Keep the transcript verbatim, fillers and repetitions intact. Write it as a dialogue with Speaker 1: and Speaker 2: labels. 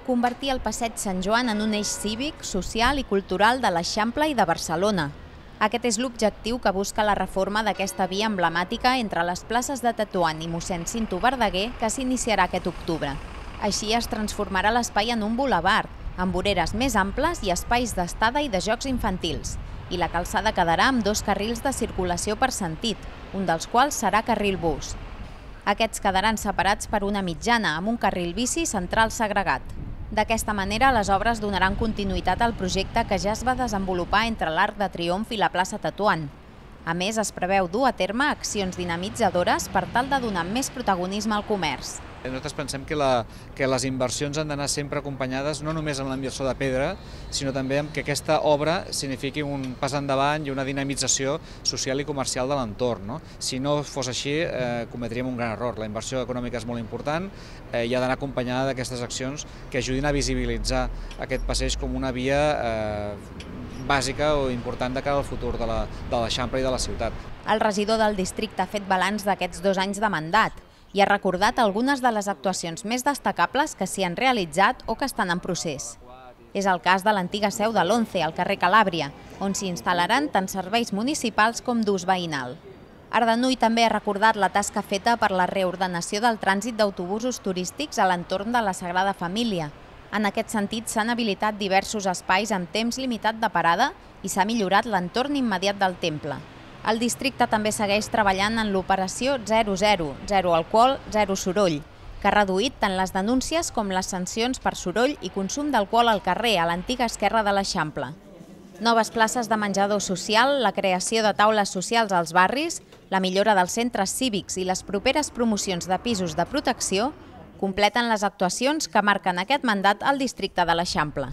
Speaker 1: convertir el Passeig Sant Joan en un eix cívic, social i cultural de l'Eixample i de Barcelona. Aquest és l'objectiu que busca la reforma d'aquesta via emblemàtica entre les places de Tetuan i mossèn Cinto Verdaguer que s'iniciarà aquest octubre. Així es transformarà l'espai en un bulevard, amb voreres més amples i espais d'estada i de jocs infantils. I la calçada quedarà amb dos carrils de circulació per sentit, un dels quals serà carril bus. Aquests quedaran separats per una mitjana, amb un carril bici central segregat. D'aquesta manera, les obres donaran continuïtat al projecte que ja es va desenvolupar entre l'Arc de Triomf i la plaça Tetuan. A més, es preveu dur a terme accions dinamitzadores per tal de donar més protagonisme al comerç.
Speaker 2: Nosaltres pensem que, la, que les inversions han d'anar sempre acompanyades no només amb l'inversor de pedra, sinó també amb que aquesta obra signifiqui un pas endavant i una dinamització social i comercial de l'entorn. No? Si no fos així, eh, cometríem un gran error. La inversió econòmica és molt important eh, i ha d'anar acompanyada d'aquestes accions que ajudin a visibilitzar aquest passeig com una via eh, bàsica o important de cara al futur de l'Eixample i de la ciutat.
Speaker 1: El regidor del districte ha fet balanç d'aquests dos anys de mandat i ha recordat algunes de les actuacions més destacables que s'hi han realitzat o que estan en procés. És el cas de l'antiga seu de l'Once, al carrer Calàbria, on s'hi instal·laran tant serveis municipals com d'ús veïnal. Ardanuy també ha recordat la tasca feta per la reordenació del trànsit d'autobusos turístics a l'entorn de la Sagrada Família. En aquest sentit, s'han habilitat diversos espais amb temps limitat de parada i s'ha millorat l'entorn immediat del temple. El districte també segueix treballant en l'operació zero zero, zero alcohol, zero soroll, que ha reduït tant les denúncies com les sancions per soroll i consum d'alcohol al carrer, a l'antiga esquerra de l'Eixample. Noves places de menjador social, la creació de taules socials als barris, la millora dels centres cívics i les properes promocions de pisos de protecció completen les actuacions que marquen aquest mandat al districte de l'Eixample.